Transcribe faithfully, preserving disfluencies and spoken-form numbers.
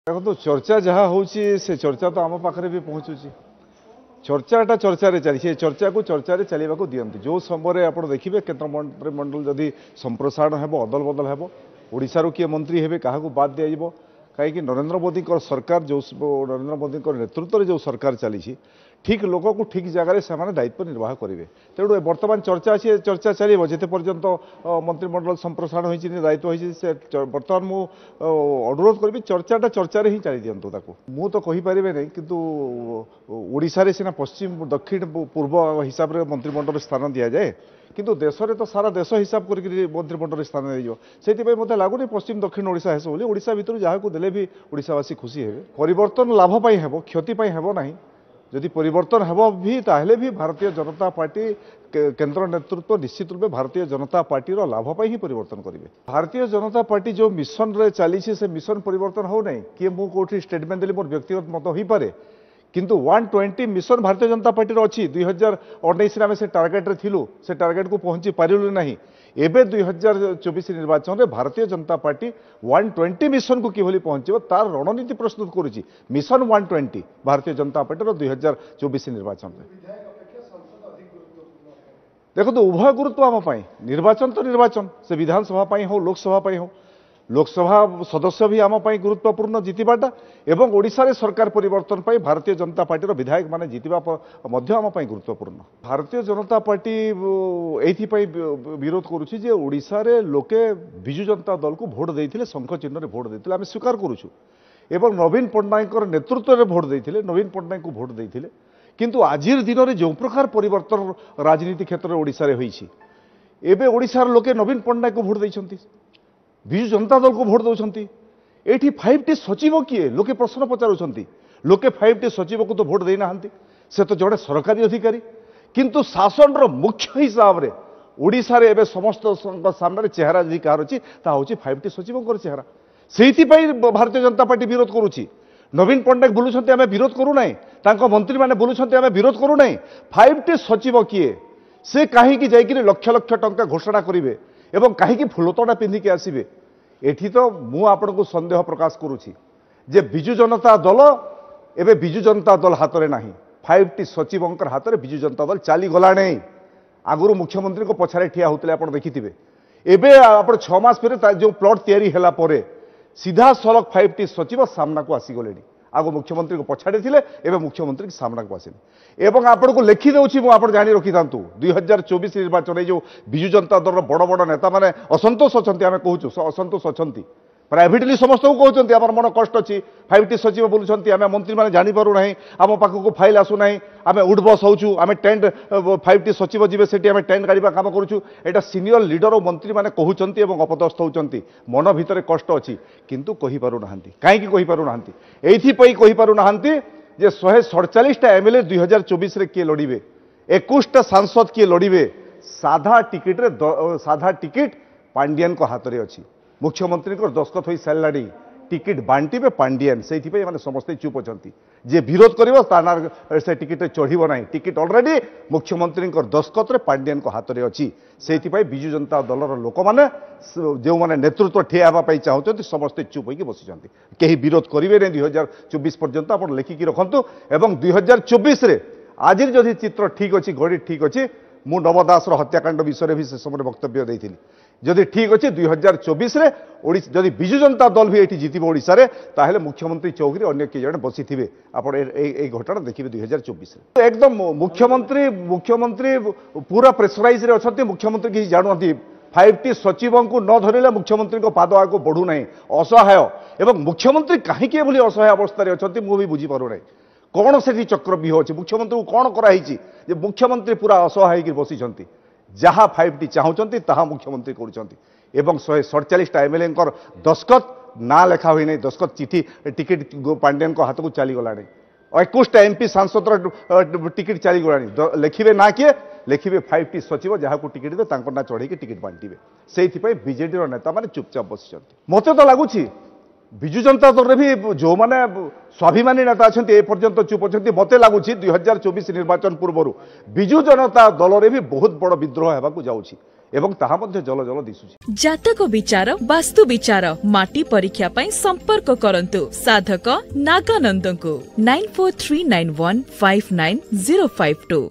ଦେଖନ୍ତୁ, ଚର୍ଚ୍ଚା ଯାହା ହେଉଛି ସେ ଚର୍ଚ୍ଚା ତ ଆମ ପାଖରେ ବି ପହଞ୍ଚୁଛି। ଚର୍ଚ୍ଚାଟା ଚର୍ଚ୍ଚାରେ ଚାଲିଛି, ଏ ଚର୍ଚ୍ଚାକୁ ଚର୍ଚ୍ଚାରେ ଚାଲିବାକୁ ଦିଅନ୍ତୁ। ଯେଉଁ ସମୟରେ ଆପଣ ଦେଖିବେ କେନ୍ଦ୍ର ମନ୍ତ୍ରିମଣ୍ଡଳ ଯଦି ସମ୍ପ୍ରସାରଣ ହେବ, ଅଦଳ ବଦଳ ହେବ, ଓଡ଼ିଶାରୁ କିଏ ମନ୍ତ୍ରୀ ହେବେ, କାହାକୁ ବାଦ ଦିଆଯିବ, କାହିଁକି ନରେନ୍ଦ୍ର ମୋଦିଙ୍କର ସରକାର ଯେଉଁ, ନରେନ୍ଦ୍ର ମୋଦିଙ୍କର ନେତୃତ୍ୱରେ ଯେଉଁ ସରକାର ଚାଲିଛି, ଠିକ୍ ଲୋକକୁ ଠିକ୍ ଜାଗାରେ ସେମାନେ ଦାୟିତ୍ୱ ନିର୍ବାହ କରିବେ। ତେଣୁ ବର୍ତ୍ତମାନ ଚର୍ଚ୍ଚା ଅଛି, ଏ ଚର୍ଚ୍ଚା ଚାଲିବ ଯେତେ ପର୍ଯ୍ୟନ୍ତ ମନ୍ତ୍ରିମଣ୍ଡଳ ସମ୍ପ୍ରସାରଣ ହୋଇଛି, ଦାୟିତ୍ୱ ହୋଇଛି। ସେ ବର୍ତ୍ତମାନ ମୁଁ ଅନୁରୋଧ କରିବି, ଚର୍ଚ୍ଚାଟା ଚର୍ଚ୍ଚାରେ ହିଁ ଚାଲି ଦିଅନ୍ତୁ ତାକୁ। ମୁଁ ତ କହିପାରିବେ ନାହିଁ, କିନ୍ତୁ ଓଡ଼ିଶାରେ ସିନା ପଶ୍ଚିମ, ଦକ୍ଷିଣ, ପୂର୍ବ ହିସାବରେ ମନ୍ତ୍ରିମଣ୍ଡଳରେ ସ୍ଥାନ ଦିଆଯାଏ, କିନ୍ତୁ ଦେଶରେ ତ ସାରା ଦେଶ ହିସାବ କରିକି ମନ୍ତ୍ରିମଣ୍ଡଳରେ ସ୍ଥାନ ଦିଆଯିବ। ସେଥିପାଇଁ ମୋତେ ଲାଗୁନି ପଶ୍ଚିମ, ଦକ୍ଷିଣ ଓଡ଼ିଶା ହେବ ବୋଲି। ଓଡ଼ିଶା ଭିତରୁ ଯାହାକୁ ଦେଲେ ବି ଓଡ଼ିଶାବାସୀ ଖୁସି ହେବେ। ପରିବର୍ତ୍ତନ ଲାଭ ପାଇଁ ହେବ, କ୍ଷତି ପାଇଁ ହେବ ନାହିଁ। ଯଦି ପରିବର୍ତ୍ତନ ହେବ ବି, ତାହେଲେ ବି ଭାରତୀୟ ଜନତା ପାର୍ଟି କେନ୍ଦ୍ର ନେତୃତ୍ୱ ନିଶ୍ଚିତ ରୂପେ ଭାରତୀୟ ଜନତା ପାର୍ଟିର ଲାଭ ପାଇଁ ହିଁ ପରିବର୍ତ୍ତନ କରିବେ। ଭାରତୀୟ ଜନତା ପାର୍ଟି ଯେଉଁ ମିଶନରେ ଚାଲିଛି, ସେ ମିଶନ ପରିବର୍ତ୍ତନ ହେଉନାହିଁ। କିଏ ମୁଁ କେଉଁଠି ଷ୍ଟେଟମେଣ୍ଟ ଦେଲି, ମୋର ବ୍ୟକ୍ତିଗତ ମତ ହୋଇପାରେ, କିନ୍ତୁ ୱାନ୍ ଟ୍ୱେଣ୍ଟି ମିଶନ ଭାରତୀୟ ଜନତା ପାର୍ଟିର ଅଛି। ଦୁଇ ହଜାର ଉଣେଇଶରେ ଆମେ ସେ ଟାର୍ଗେଟରେ ଥିଲୁ, ସେ ଟାର୍ଗେଟକୁ ପହଞ୍ଚି ପାରିଲୁ ନାହିଁ। ଏବେ ଦୁଇ ହଜାର ଚବିଶ ନିର୍ବାଚନରେ ଭାରତୀୟ ଜନତା ପାର୍ଟି ୱାନ୍ ଟ୍ୱେଣ୍ଟି ମିଶନକୁ କିଭଳି ପହଞ୍ଚିବ ତାର ରଣନୀତି ପ୍ରସ୍ତୁତ କରୁଛି। ମିଶନ ୱାନ୍ ଟ୍ୱେଣ୍ଟି ଭାରତୀୟ ଜନତା ପାର୍ଟିର ଦୁଇ ହଜାର ଚବିଶ ନିର୍ବାଚନରେ। ଦେଖନ୍ତୁ, ଉଭୟ ଗୁରୁତ୍ୱ ଆମ ପାଇଁ। ନିର୍ବାଚନ ତ ନିର୍ବାଚନ, ସେ ବିଧାନସଭା ପାଇଁ ହଉ, ଲୋକସଭା ପାଇଁ ହଉ। ଲୋକସଭା ସଦସ୍ୟ ବି ଆମ ପାଇଁ ଗୁରୁତ୍ୱପୂର୍ଣ୍ଣ ଜିତିବାଟା, ଏବଂ ଓଡ଼ିଶାରେ ସରକାର ପରିବର୍ତ୍ତନ ପାଇଁ ଭାରତୀୟ ଜନତା ପାର୍ଟିର ବିଧାୟକମାନେ ଜିତିବା ମଧ୍ୟ ଆମ ପାଇଁ ଗୁରୁତ୍ୱପୂର୍ଣ୍ଣ। ଭାରତୀୟ ଜନତା ପାର୍ଟି ଏଇଥିପାଇଁ ବିରୋଧ କରୁଛି ଯେ ଓଡ଼ିଶାରେ ଲୋକେ ବିଜୁ ଜନତା ଦଳକୁ ଭୋଟ ଦେଇଥିଲେ, ଶଙ୍ଖ ଚିହ୍ନରେ ଭୋଟ ଦେଇଥିଲେ, ଆମେ ସ୍ୱୀକାର କରୁଛୁ, ଏବଂ ନବୀନ ପଟ୍ଟନାୟକଙ୍କର ନେତୃତ୍ୱରେ ଭୋଟ ଦେଇଥିଲେ, ନବୀନ ପଟ୍ଟନାୟକଙ୍କୁ ଭୋଟ ଦେଇଥିଲେ। କିନ୍ତୁ ଆଜିର ଦିନରେ ଯେଉଁ ପ୍ରକାର ପରିବର୍ତ୍ତନ ରାଜନୀତି କ୍ଷେତ୍ରରେ ଓଡ଼ିଶାରେ ହୋଇଛି, ଏବେ ଓଡ଼ିଶାର ଲୋକେ ନବୀନ ପଟ୍ଟନାୟକଙ୍କୁ ଭୋଟ ଦେଇଛନ୍ତି, ବିଜୁ ଜନତା ଦଳକୁ ଭୋଟ ଦେଉଛନ୍ତି। ଏଇଠି ଫାଇଭ୍ ଟି ସଚିବ କିଏ, ଲୋକେ ପ୍ରଶ୍ନ ପଚାରୁଛନ୍ତି। ଲୋକେ ଫାଇଭ୍ ଟି ସଚିବକୁ ତ ଭୋଟ ଦେଇନାହାନ୍ତି, ସେ ତ ଜଣେ ସରକାରୀ ଅଧିକାରୀ, କିନ୍ତୁ ଶାସନର ମୁଖ୍ୟ ହିସାବରେ ଓଡ଼ିଶାରେ ଏବେ ସମସ୍ତଙ୍କ ସାମ୍ନାରେ ଚେହେରା ଯଦି କାହାର ଅଛି, ତାହା ହେଉଛି ଫାଇଭ୍ ଟି ସଚିବଙ୍କର ଚେହେରା। ସେଇଥିପାଇଁ ଭାରତୀୟ ଜନତା ପାର୍ଟି ବିରୋଧ କରୁଛି। ନବୀନ ପଟ୍ଟନାୟକ ବୁଲୁଛନ୍ତି, ଆମେ ବିରୋଧ କରୁନାହିଁ। ତାଙ୍କ ମନ୍ତ୍ରୀମାନେ ବୁଲୁଛନ୍ତି, ଆମେ ବିରୋଧ କରୁନାହିଁ। ଫାଇଭ୍ ଟି ସଚିବ କିଏ, ସେ କାହିଁକି ଯାଇକରି ଲକ୍ଷ ଲକ୍ଷ ଟଙ୍କା ଘୋଷଣା କରିବେ ଏବଂ କାହିଁକି ଫୁଲତୋଡ଼ା ପିନ୍ଧିକି ଆସିବେ? ଏଠି ତ ମୁଁ ଆପଣଙ୍କୁ ସନ୍ଦେହ ପ୍ରକାଶ କରୁଛି ଯେ ବିଜୁ ଜନତା ଦଳ ଏବେ ବିଜୁ ଜନତା ଦଳ ହାତରେ ନାହିଁ, ଫାଇଭ୍ ଟି ସଚିବଙ୍କର ହାତରେ ବିଜୁ ଜନତା ଦଳ ଚାଲିଗଲାଣି। ଆଗରୁ ମୁଖ୍ୟମନ୍ତ୍ରୀଙ୍କ ପଛରେ ଠିଆ ହେଉଥିଲେ, ଆପଣ ଦେଖିଥିବେ। ଏବେ ଆପଣ ଛଅ ମାସ ପରେ ଯେଉଁ ପ୍ଲଟ୍ ତିଆରି ହେଲା ପରେ ସିଧାସଳଖ ଫାଇଭ୍ ଟି ସଚିବ ସାମ୍ନାକୁ ଆସିଗଲେଣି। ଆଗ ମୁଖ୍ୟମନ୍ତ୍ରୀଙ୍କ ପଛାଡ଼େ ଥିଲେ, ଏବେ ମୁଖ୍ୟମନ୍ତ୍ରୀ ସାମ୍ନାକୁ ଆସିଲେ। ଏବଂ ଆପଣଙ୍କୁ ଲେଖିଦେଉଛି ମୁଁ, ଆପଣ ଜାଣି ରଖିଥାନ୍ତୁ, ଦୁଇ ହଜାର ଚବିଶ ନିର୍ବାଚନ ଏଇ ଯେଉଁ ବିଜୁ ଜନତା ଦଳର ବଡ଼ ବଡ଼ ନେତାମାନେ ଅସନ୍ତୋଷ ଅଛନ୍ତି, ଆମେ କହୁଛୁ ଅସନ୍ତୋଷ ଅଛନ୍ତି, ପ୍ରାଇଭେଟଲି ସମସ୍ତଙ୍କୁ କହୁଛନ୍ତି ଆମର ମନ କଷ୍ଟ ଅଛି, ଫାଇଭ୍ ଟି ସଚିବ ବୁଲୁଛନ୍ତି, ଆମେ ମନ୍ତ୍ରୀମାନେ ଜାଣିପାରୁନାହିଁ, ଆମ ପାଖକୁ ଫାଇଲ୍ ଆସୁନାହିଁ, ଆମେ ଉଠବସ୍ ହେଉଛୁ, ଆମେ ଟେଣ୍ଟ, ଫାଇଭ୍ ଟି ସଚିବ ଯିବେ ସେଠି ଆମେ ଟେଣ୍ଟ ଗାଡ଼ିବା କାମ କରୁଛୁ। ଏଇଟା ସିନିୟର ଲିଡର ଓ ମନ୍ତ୍ରୀମାନେ କହୁଛନ୍ତି ଏବଂ ଅପଦସ୍ଥ ହେଉଛନ୍ତି। ମନ ଭିତରେ କଷ୍ଟ ଅଛି, କିନ୍ତୁ କହିପାରୁନାହାନ୍ତି। କାହିଁକି କହିପାରୁନାହାନ୍ତି? ଏଇଥିପାଇଁ କହିପାରୁନାହାନ୍ତି ଯେ ଶହେ ସଡ଼ଚାଳିଶଟା ଏମ୍ ଏଲ୍ ଏ ଦୁଇ ହଜାର ଚବିଶରେ କିଏ ଲଢ଼ିବେ, ଏକୋଇଶଟା ସାଂସଦ କିଏ ଲଢ଼ିବେ, ସାଧା ଟିକିଟରେ, ସାଧା ଟିକିଟ ପାଣ୍ଡିଆନଙ୍କ ହାତରେ ଅଛି, ମୁଖ୍ୟମନ୍ତ୍ରୀଙ୍କର ଦସ୍ତଖତ ହୋଇସାରିଲାଣି, ଟିକିଟ ବାଣ୍ଟିବେ ପାଣ୍ଡିଆନ। ସେଇଥିପାଇଁ ଏମାନେ ସମସ୍ତେ ଚୁପ୍ ଅଛନ୍ତି। ଯିଏ ବିରୋଧ କରିବ ତା ନାଁ ସେ ଟିକିଟରେ ଚଢ଼ିବ ନାହିଁ। ଟିକିଟ ଅଲରେଡି ମୁଖ୍ୟମନ୍ତ୍ରୀଙ୍କର ଦସ୍ତଖତରେ ପାଣ୍ଡିଆନଙ୍କ ହାତରେ ଅଛି। ସେଇଥିପାଇଁ ବିଜୁ ଜନତା ଦଳର ଲୋକମାନେ, ଯେଉଁମାନେ ନେତୃତ୍ୱ ଠିଆ ହେବା ପାଇଁ ଚାହୁଁଛନ୍ତି, ସମସ୍ତେ ଚୁପ୍ ହୋଇକି ବସିଛନ୍ତି। କେହି ବିରୋଧ କରିବେ ନାହିଁ ଦୁଇ ହଜାର ଚବିଶ ପର୍ଯ୍ୟନ୍ତ, ଆପଣ ଲେଖିକି ରଖନ୍ତୁ। ଏବଂ ଦୁଇ ହଜାର ଚବିଶରେ ଆଜିର ଯଦି ଚିତ୍ର ଠିକ୍ ଅଛି, ଘଡ଼ି ଠିକ୍ ଅଛି, ମୁଁ ନବ ଦାସର ହତ୍ୟାକାଣ୍ଡ ବିଷୟରେ ବି ସେ ସମୟରେ ବକ୍ତବ୍ୟ ଦେଇଥିଲି, ଯଦି ଠିକ୍ ଅଛି ଦୁଇ ହଜାର ଚବିଶରେ ଓଡ଼ିଶା ଯଦି ବିଜୁ ଜନତା ଦଳ ବି ଏଇଠି ଜିତିବ ଓଡ଼ିଶାରେ, ତାହେଲେ ମୁଖ୍ୟମନ୍ତ୍ରୀ ଚୌକିରେ ଅନ୍ୟ କିଏ ଜଣେ ବସିଥିବେ। ଆପଣ ଏଇ ଘଟଣା ଦେଖିବେ ଦୁଇ ହଜାର ଚବିଶରେ। ଏକଦମ ମୁଖ୍ୟମନ୍ତ୍ରୀ ମୁଖ୍ୟମନ୍ତ୍ରୀ ପୁରା ପ୍ରେସରାଇଜରେ ଅଛନ୍ତି। ମୁଖ୍ୟମନ୍ତ୍ରୀ କିଛି ଜାଣୁନାହାନ୍ତି। ଫାଇଭ୍ ଟି ସଚିବଙ୍କୁ ନ ଧରିଲେ ମୁଖ୍ୟମନ୍ତ୍ରୀଙ୍କ ପାଦ ଆଗକୁ ବଢ଼ୁନାହିଁ, ଅସହାୟ। ଏବଂ ମୁଖ୍ୟମନ୍ତ୍ରୀ କାହିଁକି ଏଭଳି ଅସହାୟ ଅବସ୍ଥାରେ ଅଛନ୍ତି ମୁଁ ବି ବୁଝିପାରୁନାହିଁ। କ'ଣ ସେଠି ଚକ୍ରବ୍ୟୁହ ଅଛି? ମୁଖ୍ୟମନ୍ତ୍ରୀଙ୍କୁ କ'ଣ କରାହେଇଛି ଯେ ମୁଖ୍ୟମନ୍ତ୍ରୀ ପୁରା ଅସହାୟ ହେଇକି ବସିଛନ୍ତି? ଯାହା ଫାଇଭ୍ ଟି ଚାହୁଁଛନ୍ତି ତାହା ମୁଖ୍ୟମନ୍ତ୍ରୀ କରୁଛନ୍ତି। ଏବଂ ଶହେ ସଡ଼ଚାଳିଶଟା ଏମ୍ଏଲ୍ଏଙ୍କର ଦସ୍ତଖତ ନାଁ ଲେଖା ହୋଇନାହିଁ, ଦସ୍ତଖତ ଚିଠି ଟିକେଟ ପାଣ୍ଡିଆନଙ୍କ ହାତକୁ ଚାଲିଗଲାଣି। ଏକୋଇଶଟା ଏମ୍ପି ସାଂସଦର ଟିକେଟ ଚାଲିଗଲାଣି, ଲେଖିବେ ନା କିଏ ଲେଖିବେ? ଫାଇଭ୍ ଟି ସଚିବ ଯାହାକୁ ଟିକେଟ ଦେବେ ତାଙ୍କ ନାଁ ଚଢ଼େଇକି ଟିକେଟ ବାଣ୍ଟିବେ। ସେଇଥିପାଇଁ ବିଜେଡିର ନେତାମାନେ ଚୁପଚାପ ବସିଛନ୍ତି। ମୋତେ ତ ଲାଗୁଛି ବିଜୁ ଜନତା ଦଳରେ ବି ଯେଉଁମାନେ ସ୍ୱାଭିମାନୀ ନେତା ଅଛନ୍ତି ଏପର୍ଯ୍ୟନ୍ତ ଚୁପ୍ ଅଛନ୍ତି। ମୋତେ ଲାଗୁଛି ଦୁଇ ହଜାର ଚବିଶ ନିର୍ବାଚନ ପୂର୍ବରୁ ବିଜୁ ଜନତା ଦଳରେ ବି ବହୁତ ବଡ଼ ବିଦ୍ରୋହ ହେବାକୁ ଯାଉଛି। ଏବଂ ତାହା ମଧ୍ୟ ଜଳ ଜଳ ଦିଶୁଛି। ଜାତକ ବିଚାର, ବାସ୍ତୁ ବିଚାର, ମାଟି ପରୀକ୍ଷା ପାଇଁ ସମ୍ପର୍କ କରନ୍ତୁ ସାଧକ ନାଗାନନ୍ଦଙ୍କୁ nine four three nine one five nine zero five two.